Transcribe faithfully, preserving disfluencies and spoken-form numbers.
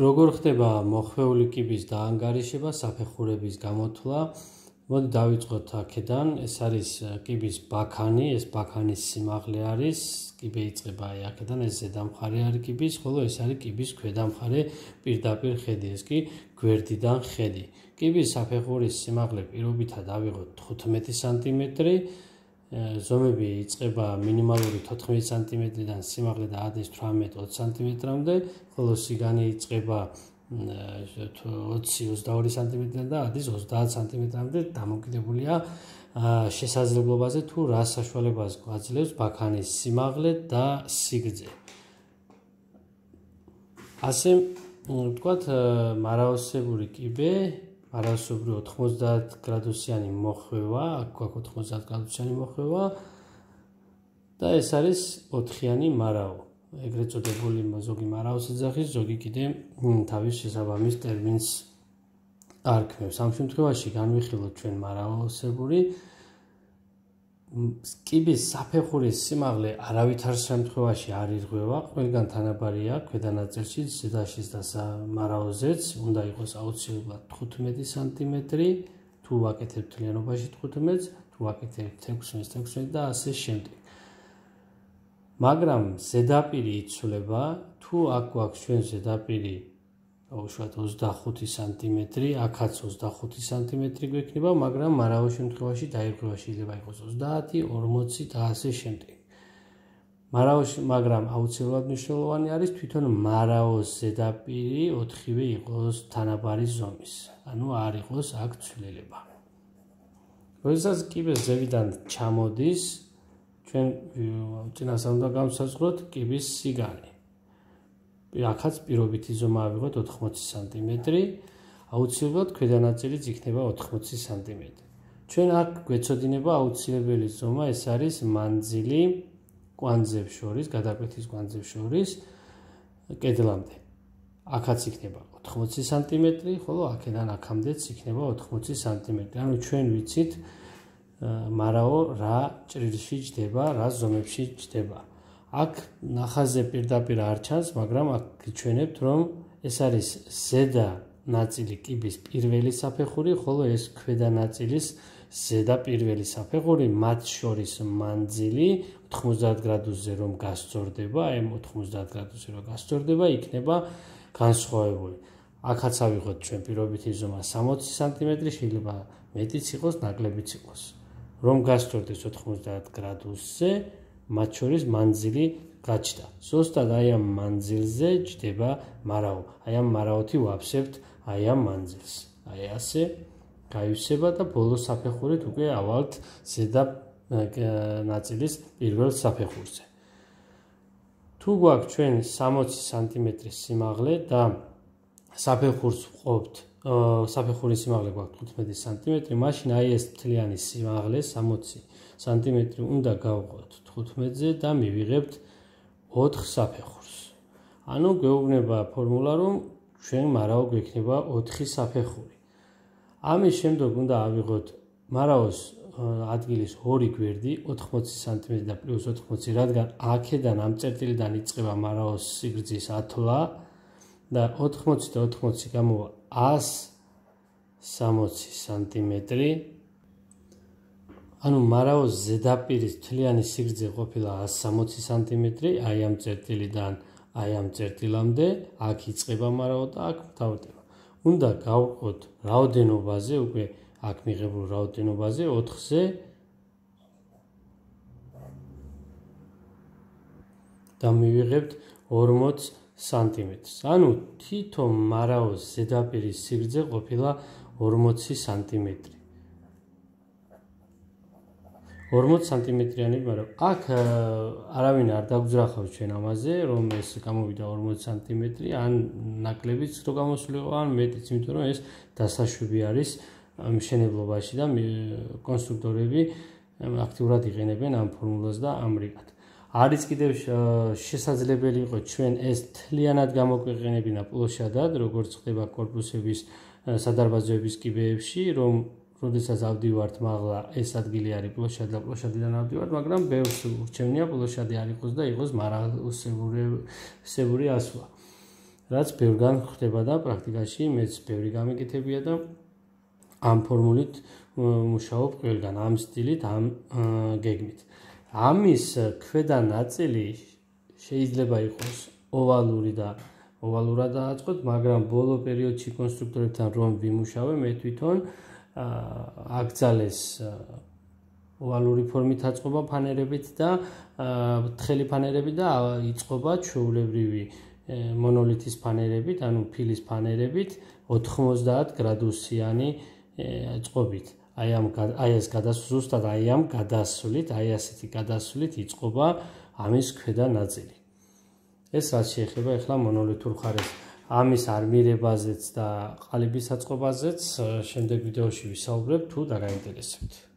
როგორ ხდება მოხვეული კიბის დაანგარიშება, საფეხურების გამოთვლა. მოდი დავიწყოთ აქედან. ეს არის კიბის ბაქანი, ეს ბაქანის სიმაღლე არის. კიბე იწყება აი აქედან, ეს ზედა მხარე არის კიბის, ხოლო ეს არის კიბის ქვედა მხარე პირდაპირ ხედი, ეს კი გვერდიდან ხედი. კიბის საფეხურის სიმაღლე პირობითად ავიღოთ თხუთმეტი სანტიმეტრი. ზომები იწყება მინიმალური თოთხმეტი სანტიმეტრიდან სიმაღლე დაადის თვრამეტ ოცი სანტიმეტრამდე, ხოლო სიგანი იწყება ოცი ოცდაორი სანტიმეტრიდან და ადის ოცდაათ სანტიმეტრამდე, დამოკიდებულია შესაძლებლობაზე თუ რა საშუალებას გვაძლევს ბაქანის სიმაღლე და სიგრძე. ასე ვთქვათ, მარაოსებური კიბე, მარაოსებური ოთხმოცდაათ გრადუსიანი მოხვევა, აქ გვაქვს ოთხმოცდაათ გრადუსიანი მოხვევა და ეს არის ოთხიანი მარაო. ეგრეთ წოდებული ზოგი მარაოს ეძახის, ზოგი კიდე თავის შესაბამის ტერმინს არქმევს. ამ შემთხვევაში განვიხილოთ ჩვენ მარაოსებური კიბის საფეხურის სიმაღლე არავითარ შემთხვევაში არ ირღვევა, ყველგან თანაბარია ქვედა ნაწილში, ზედაშიც და მარაოზეც, უნდა იყოს აუცილებლად თხუთმეტი სანტიმეტრი, თუ ვაკეთებთ მთლიანობაში თხუთმეტს, თუ ვაკეთებთ ექვსმეტს, ექვსმეტს და ასე შემდეგ. მაგრამ ზედაპირი იცვლება, თუ აქ გვაქვს ჩვენ ზედაპირი უშუალოდ ოცდახუთი სანტიმეტრი, აქაც ოცდახუთი სანტიმეტრი გვექნება, მაგრამ მარაოს შემთხვევაში დაირღვევა, შეიძლება იყოს ოცდაათი, ორმოცი და ასე შემდეგ. მარაოს, მაგრამ აუცილებლად მნიშვნელოვანი არის თვითონ მარაოს ზედაპირი ოთხივე იყოს თანაბარი ზომის, ანუ არ იყოს აქ ცვლილება. როდესაც კიბე ზევიდან ჩამოდის, ჩვენ წინასწარ უნდა გავსაზღვროთ კიბის სიგანი. აქაც პირობითი ზომა ავიღოთ ოთხმოცი სანტიმეტრი, აუცილებლად ქვედა ნაწილიც იქნება ოთხმოცი სანტიმეტრი. ჩვენ აქ გვეცოდინება აუცილებელი ზომა, ეს არის მანძილი კვანძებს შორის, გადაკვეთის კვანძებს შორის კედლამდე. აქაც იქნება ოთხმოცი სანტიმეტრი, ხოლო აქედან აქამდეც იქნება ოთხმოცი სანტიმეტრი. ანუ ჩვენ ვიცით მარაო რა ჭრილში ჯდება, რა ზომებში ჯდება. აქ ნახაზზე პირდაპირ არ ჩანს, მაგრამ აქ გიჩვენებთ, რომ ეს არის ზედა ნაწილი კიბის პირველი საფეხური, ხოლო ეს ქვედა ნაწილის ზედა პირველი საფეხური, მათ შორის მანძილი ოთხმოცდაათ გრადუსზე რომ გასწორდება, აი ოთხმოცდაათ გრადუსზე რომ გასწორდება, იქნება განსხვავებული. აქაც ავიღოთ ჩვენ პირობითი ზომა სამოცი სანტიმეტრი, შეიძლება მეტიც იყოს, ნაკლებიც იყოს. რომ გასწორდეს ოთხმოცდაათ გრადუსზე, მათ შორის მანძილი გაჩნდა. ზუსტად აი ამ მანძილზე ჯდება მარაო. აი ამ მარაოთი ვაფსებთ აი ამ მანძილს. აი ასე გაივსება და ბოლო საფეხურით უკვე ავალთ ზედა ნაწილის პირველ საფეხურზე. თუ გვაქვს ჩვენ სამოცი სანტიმეტრის სიმაღლე და საფეხურს ვყოფთ, საფეხურის სიმაღლე გვაქვს თხუთმეტი სანტიმეტრი, მაშინ აი ეს მთლიანი სიმაღლე სამოცი სანტიმეტრი უნდა გავყოთ თხუთმეტზე და მივიღებთ ოთხ საფეხურს. ანუ გვეუბნება ფორმულა, რომ ჩვენ მარაო გვექნება ოთხი საფეხური. ამის შემდეგ უნდა ავიღოთ მარაოს ადგილის ორი გვერდი, ოთხმოცი სანტიმეტრი და პლუს ოთხმოცი, რადგან აქედან ამ წერტილიდან იწყება მარაოს სიგრძის ათვლა და ოთხმოცი და ოთხმოცი გამოვა ასი სამოცი სანტიმეტრი. ანუ მარაოს ზედაპირის მთლიანი სიგრძე ყოფილა ასი სამოცი სანტიმეტრი, აი ამ წერტილიდან აი ამ წერტილამდე, აქ იწყება მარაო და აქ მთავრდება. უნდა გავყოთ რაოდენობაზე, უკვე აქ მიღებულ რაოდენობაზე ოთხზე და მივიღებთ ორმოც სანტიმეტრს. ანუ თითო მარაოს ზედაპირის სიგრძე ყოფილა ორმოცი სანტიმეტრი. ორმოც სანტიმეტრიანი, მაგრამ აქ არავინ არ დაგვძრახავს ჩვენ ამაზე, რომ ეს გამოვიდა ორმოცი სანტიმეტრი, ან ნაკლებიც რო გამოსულიყო, ან მეტიც, იმიტომ რომ ეს დასაშვები არის მშენებლობაში და კონსტრუქტორები აქტიურად იყენებენ ამ ფორმულას და ამრიგად. არის კიდევ შესაძლებელი იყო ჩვენ ეს მთლიანად გამოგვეყენებინა პლოშადად, როგორც ხდება კორპუსების სადარბაზოების კიბეებში, რომ როდესაც ავდივართ მაღლა, ეს ადგილი არის პლოშადი და პლოშადიდან ავდივართ, მაგრამ ბევრს ურჩევნია პლოშადი არ იყოს და იყოს მარაოსებური ასვლა. რაც ბევრგან ხდება და პრაქტიკაში მეც ბევრი გამიკეთებია და ამ ფორმულით მუშაობ ყველგან, ამ სტილით, ამ გეგმით. ამის ქვედა ნაწილი შეიძლება იყოს ოვალური და ოვალურად დააწყოთ, მაგრამ ბოლო პერიოდში კონსტრუქტორებთან რომ ვიმუშავე, მე თვითონ აკრძალეს ოვალური ფორმით აწყობა ფანერებით და თხელი ფანერებით და იწყობა ჩვეულებრივი მონოლითის ფანერებით, ანუ ფილის ფანერებით ოთხმოცდაათ გრადუსიანი წყობით. აი ამ აი ეს გადასვლით, აი ამ გადასვლით, აი ასეთი გადასვლით იწყობა ამის ქვედა ნაწილი. ეს რაც შეეხება ახლა მონოლითურ მხარეს. ამის არმირებაზეც და ყალიბის აწყობაზეც შემდეგ ვიდეოში ვისაუბრებ, თუ დაგაინტერესებთ.